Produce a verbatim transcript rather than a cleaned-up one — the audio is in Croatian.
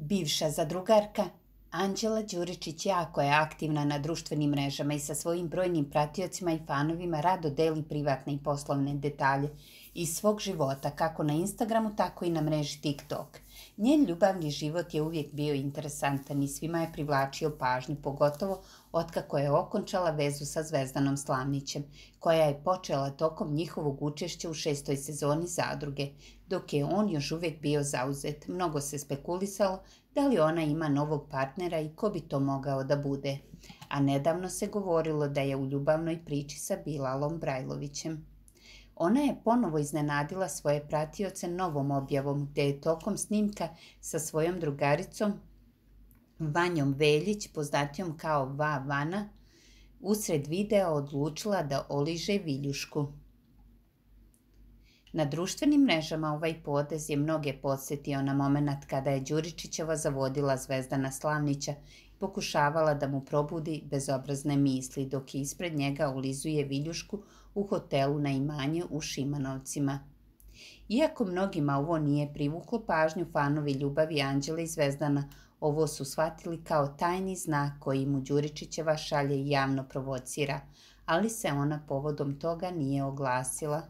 Bivša zadrugarka Anđela Đuričić jako je aktivna na društvenim mrežama i sa svojim brojnim pratiocima i fanovima rado deli privatne i poslovne detalje iz svog života, kako na Instagramu, tako i na mreži TikTok. Njen ljubavni život je uvijek bio interesantan i svima je privlačio pažnju, pogotovo otkako je okončala vezu sa Zvezdanom Slavnićem, koja je počela tokom njihovog učešća u šestoj sezoni Zadruge, dok je on još uvijek bio zauzet. Mnogo se spekulisalo da li ona ima novog partnera i ko bi to mogao da bude. A nedavno se govorilo da je u ljubavnoj priči sa Bilalom Brajlovićem. Ona je ponovo iznenadila svoje pratioce novom objavom, gde je tokom snimka sa svojom drugaricom Vanjom Veljić, poznatijom kao Va Vana, usred videa odlučila da oliže viljušku. Na društvenim mrežama ovaj potez je mnoge podsjetio na moment kada je Đuričićeva zavodila Zvezdana Slavnića i pokušavala da mu probudi bezobrazne misli, dok je ispred njega ulizuje viljušku u hotelu na imanje u Šimanovcima. Iako mnogima ovo nije privuklo pažnju, fanovi ljubavi Anđele i Zvezdana ovo su shvatili kao tajni znak koji mu Đuričićeva šalje i javno provocira, ali se ona povodom toga nije oglasila.